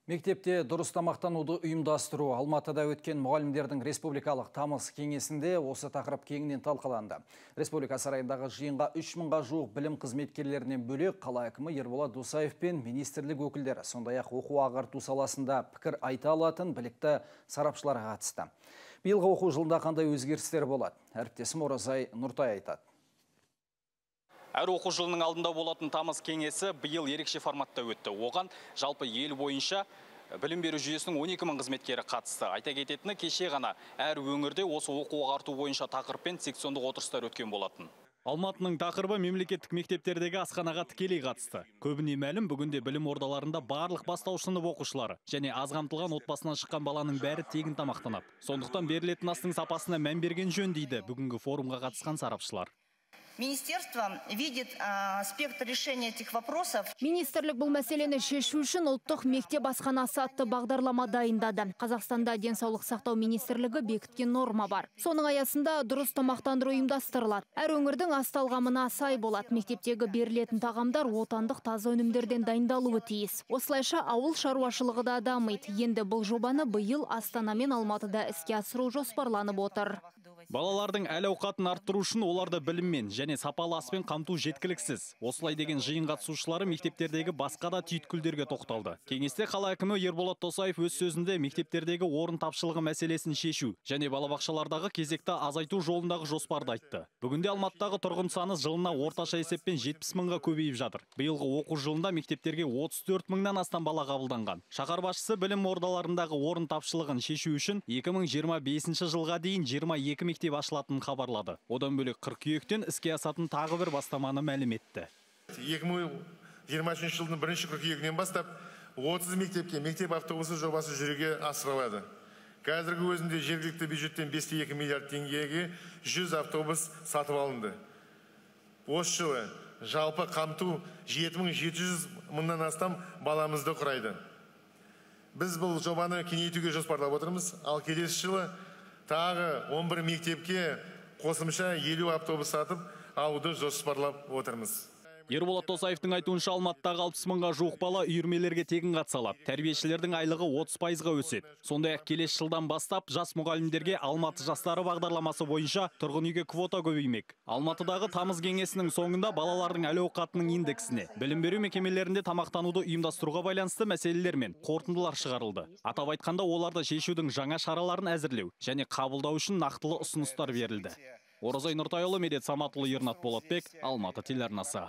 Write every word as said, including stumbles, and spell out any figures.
Мектепте дұрыс тамақтануды ұйымдастыру Алматыда өткен мұғалімдердің республикалық тамыз кеңесінде осы тақырып кеңінен талқыланды. Республика сарайындағы жиынға үш мыңға жуық білім қызметкерлерінен бөлек қала әкімі Ерболат Досаев пен министрлік өкілдері, сондай-ақ оқу ағарту саласында пікір айта алатын білікті сарапшылар қатысты. Биылғы оқу жылында қандай өзгерістер болады? Әріптесім Оразай Нұртай айтады. Әр оқу жылының алдында болатын тамыз кеңесі биыл ерекше форматта өтті. Оған жалпы ел бойынша білім беру жүйесінің он екі мың қызметкері қатысты. Айта кететіні, кеше ғана әр өңірде осы оқу ағарту бойынша тақырыппен сексиондық отырыстар өткен болатын. Алматының тақырыбы мемлекеттік мектептердегі асханаға тікелей қатысты. Көбіне мәлім, бүгінде білім ордаларында барлық бастауыш сынып оқушылары және аз қамтылған отбасынан шыққан баланың бәрі тегін тамақтанады. Сондықтан берілетін астың сапасына мән берген жөн дейді бүгінгі форумға қатысқан сарапшылар. Министерство видит а, спектр решения этих вопросов. Министрлік бұл мәселені шешу үшін ұлттық мектеп асханасы атты бағдарлама дайындады. Қазақстанда денсаулық сақтау министрлігі бекіткен норма бар. Соның аясында дұрыс тамақтандыру ұйымдастырылады. Әр өңірдің ас талғамына сай болады. Мектептегі берілетін тағамдар отандық таза өнімдерден дайындалуы тиіс. Осылайша ауыл шаруашылығы да дамиды. Енді бұл жобаны биыл Астана мен Алматыда іске асыру жоспарланып отыр. Балалардың әл-ауқатын арттыру үшін оларды біліммен және сапалы аспен қамту жеткіліксіз. Осылай деген жиын қатысушылары мектептердегі басқа да түйткілдерге тоқталды. Кеңесте қала әкімі Ерболат Досаев өз сөзінде мектептердегі орын тапшылығы мәселесін шешу және балабақшалардағы кезекті азайту жолындағы жоспарды айтты. Бүгінде Алматыдағы тұрғын саны жылына орташа есеппен жетпіс мыңға көбейіп жатыр. Биылғы оқу жылында мектептерге отыз төрт мыңнан астам бала қабылданған. Шаһар басшысы білім ордаларындағы орын тапшылығын шешу үшін екі мың жиырма бесінші жылға дейін жиырма екі мектеп ашылатынын хабарлады. Одан бөлек қыркүйектен іске асатын тағы бір бастаманы мәлім етті. екі мың жиырма үшінші жылдың бірінші қыркүйегінен бастап отыз мектепке мектеп автобусы жобасы жүзеге асырылады. Қазіргі өзінде жергілікті бюджеттен бес те екі миллиард теңгеге жүз автобус сатып алынды. Осы жылы жалпы қамту жеті мың жеті жүз мыңнан астам баламызды құрайды. Біз бұл жобаны кеңейтуге жоспарлап отырмыз, ал келесі жылы тағы он бір мектепке қосымша елу автобус сатып алуды жоспарлап отырмыз. Ерболат Досаевтың айтуынша Алматыдағы алпыс мыңға жуық бала үйірмелерге тегін қатыса алады. Тәрбиешілердің айлығы отыз пайызға өседі. Сондай-ақ келесі жылдан бастап жас мұғалімдерге Алматы жастары бағдарламасы бойынша тұрғын үйге квота көбеймек. Алматыдағы тамыз кеңесінің соңында балалардың әл-ауқатының индексіне, білім беру мекемелерінде тамақтануды ұйымдастыруға байланысты мәселелер мен қорытындылар шығарылды. Атап айтқанда, оларды шешудің жаңа шараларын әзірлеу және қабылдау үшін нақтылы ұсыныстар берілді. Оразай Нұртайұлы, Медет Саматұлы, Ернат Болатбек, Алматы телеарнасы.